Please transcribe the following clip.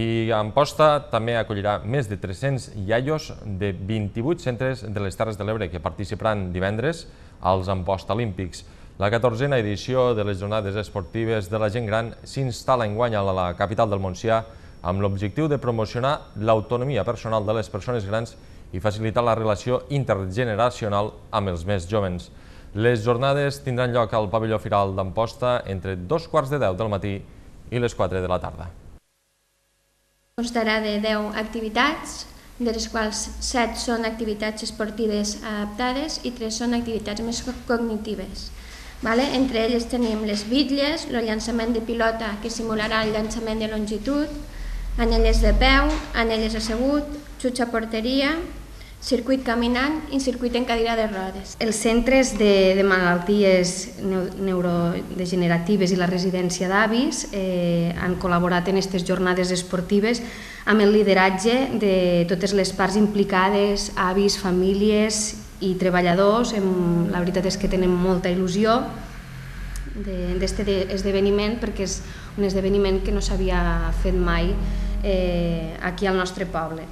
I Amposta també acollirà més de 300 iaios de 28 centres de les Terres de l'Ebre que participaran divendres als Amposta Olímpics. La 14a edició de les jornades esportives de la gent gran s'instal·la enguany a la capital del Montsià amb l'objectiu de promocionar l'autonomia personal de les persones grans i facilitar la relació intergeneracional amb els més jóvens. Les jornades tindran lloc al pavelló Firal d'Amposta entre 2:15 del matí i les 4 de la tarda. Constarà de 10 activitats, de les quals 7 són activitats esportives adaptades i 3 són activitats més cognitives. Entre elles tenim les bitlles, el llançament de pilota que simularà el llançament de longitud, anelles de peu, anelles assegut, xuts a porteria, circuit caminant i circuit en cadira de rodes. Els centres de malalties neurodegeneratives i la residència d'avis han col·laborat en aquestes jornades esportives amb el lideratge de totes les parts implicades, avis, famílies i treballadors. La veritat és que tenen molta il·lusió d'aquest esdeveniment perquè és un esdeveniment que no s'havia fet mai aquí al nostre poble.